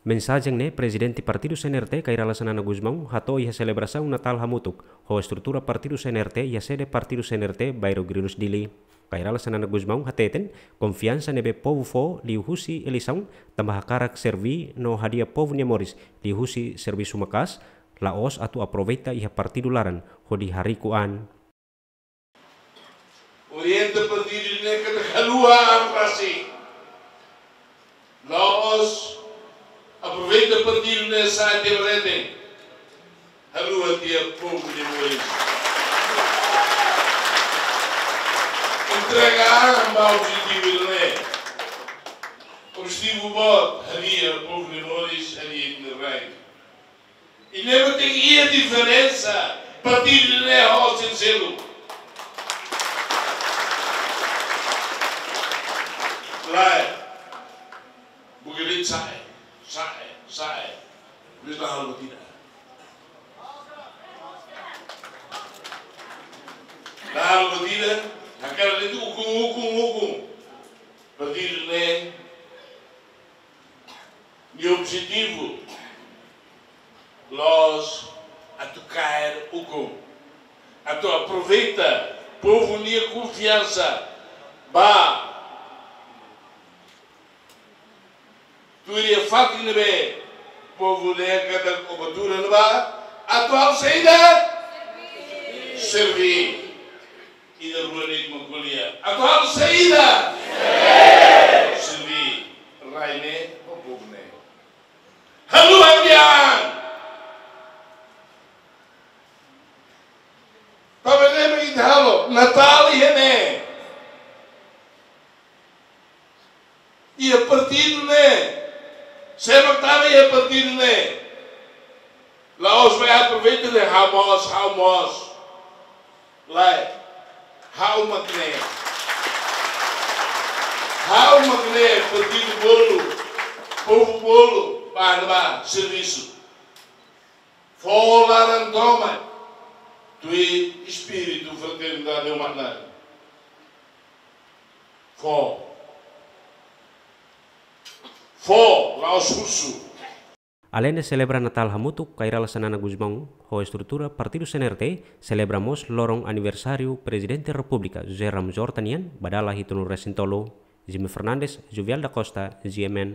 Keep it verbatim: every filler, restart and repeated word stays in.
Mensajen ne'e Prezidente Partidu C N R T, Kay Rala Xanana Gusmão, hato'o iha selebrasaun Natál hamutuk ho estrutura Partidu C N R T iha sede Partidu C N R T, Bairro Grilos, Dili. Kay Rala Xanana Gusmão hateten, konfiansa ne'ebé povu fó liuhusi eleisaun, tanba hakarak serví no hadi'a povu nia moris liuhusi servisu maka'as, la'ós atu aproveita iha partidu laran hodi hariku an. Orienta partidu ne'e katak haluha an rasik. La'ós aproveita partidu ne'e sa'e tiha ba leten. Haluha tiha povu nia moris. Entrega an ba objetivu ne'e. Objetivu boot, hadi'a povu nia moris, hadi'a ita-nia rai. I ne'e mak tenke iha diferensa partidu ne'e ho selu-seluk. Lae, buka de'it sa'e, sa'e, sa'e. Bisa halo buat ida. Halo buat ida, hakarak de'it ukun, ukun, ukun. Partidu ne'e nia objetivu la'ós atu kaer ukun, atu aproveita povu nia konfiansa ba tuir fatin ne'ebé povu dehan katak kobertura ne'ebá, atu halo saida? Serví. Ida rua de'it mak ko'alia. Atu halo saida? Serví rai ne'e ho povu ne'e. Haluha tiha an. Tanba ne'e mak ita halo Natál iha ne'e. Iha partidu ne'e. Sé mak tama iha partidu ne'e? La'ós bá aproveita dehan ha'u mós, ha'u mós. Lae, ha'u mak ne'e. Ha'u mak ne'e, partidu bolu, povu bolu, ba, ba servisu. Fó laran tomak, tuir espíritu fraternidade humana. Fó. Fó, la'ós husu. Aleinde selebra Natál hamutuk, Kay Rala Xanana Gusmão ho estrutura Partidu C N R T selebra mós loron aniversáriu Prezidente Repúblika José Ramos Horta nian, ba dala hitunulu-resin-tolu. Jimmy Fernandes, Juvial da Costa, G M N.